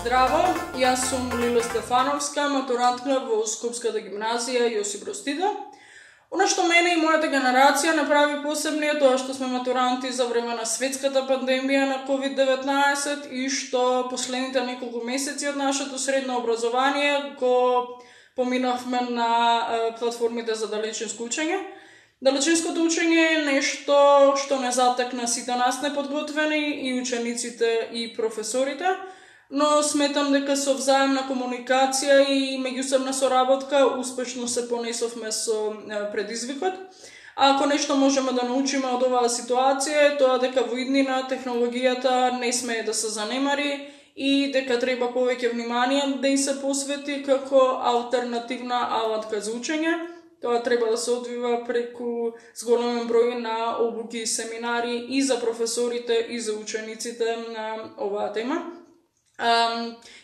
Здраво, јас сум Лиле Стефановска, матурантка во Скопската гимназија Јосип Броз Тито. Она што мене и мојата генерација направи посебни е тоа што сме матуранти за време на светската пандемија на COVID-19 и што последните неколку месеци од нашето средно образование го поминавме на платформите за далечинско учење. Далечинското учење е нешто што не затекна сите нас неподготвени, и учениците и професорите, но сметам дека со взаемна комуникација и меѓусебна соработка успешно се понесовме со предизвикот. А ако нешто можеме да научиме од оваа ситуација е тоа дека во иднина технологијата не смее да се занемари и дека треба повеќе внимание да и се посвети како алтернативна алатка за учење. Тоа треба да се одвива преку зголемен број на обуки и семинари и за професорите и за учениците на оваа тема.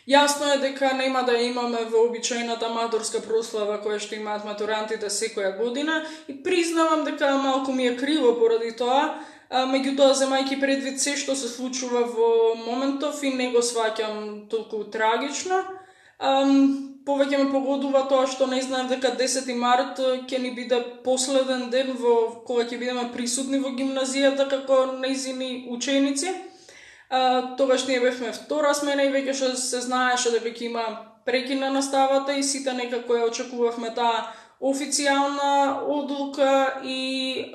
Јасно е дека нема да имаме вообичаената аматорска прослава која што имаат матурантите секоја година и признавам дека малку ми е криво поради тоа, меѓутоа земајќи предвид се што се случува во моментов и не го сваќам толку трагично. Повеќе ме погодува тоа што не знаев дека 10 март ќе ни биде последен ден во кога ќе бидеме присутни во гимназијата како нејзини ученици. Тогаш ние бевме втора смена и веќе се знаеше дека ќе има прекин на наставата и сите некако ја очекувавме таа официјална одлука и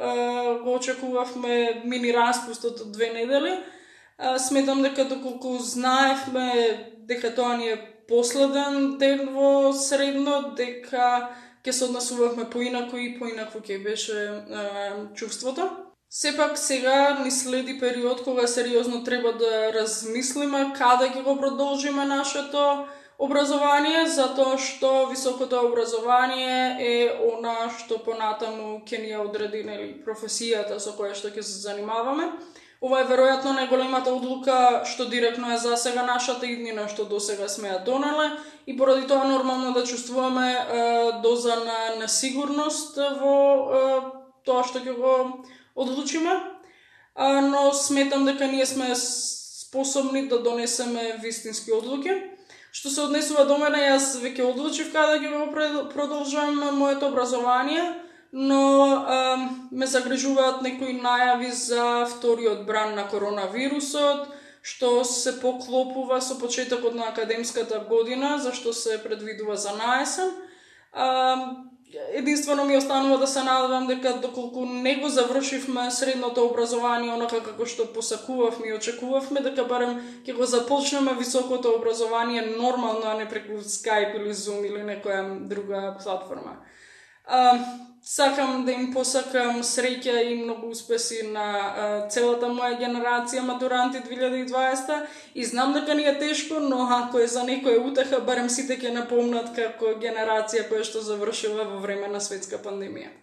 го очекувавме мини распустот од 2 недели. Сметам дека доколку знаевме дека тоа ни е последен ден во средно, дека ќе се однесувавме поинаку и поинаку ќе беше чувството. Сепак сега ни следи период кога сериозно треба да размислиме каде ќе го продолжиме нашето образование, затоа што високото образование е она што понатаму ќе ни ја одреди професијата со која што ќе се занимаваме. Ова е веројатно најголемата одлука што директно е засега нашата иднина што досега сме ја донеле и поради тоа нормално да чувствуваме доза на несигурност во тоа што ќе го одлучиме, но сметам дека ние сме способни да донесеме вистински одлуки. Што се однесува до мене, јас веќе одлучив каде ќе го продолжам моето образование, но ме загрижуваат некои најави за вториот бран на коронавирусот, што се поклопува со почетокот на академската година, зашто се предвидува за наесен. Единствено ми останува да се надевам дека доколку не го завршивме средното образование онака како што посакувавме и очекувавме, дека барем ќе го започнеме високото образование нормално, а не преку Skype или Zoom или некоја друга платформа. Сакам да им посакам среќа и многу успеси на целата моја генерација матуранти 2020 и знам дека ни е тешко, но ако е за некоја утеха, барем сите ќе напомнат како генерација која што завршила во време на светска пандемија.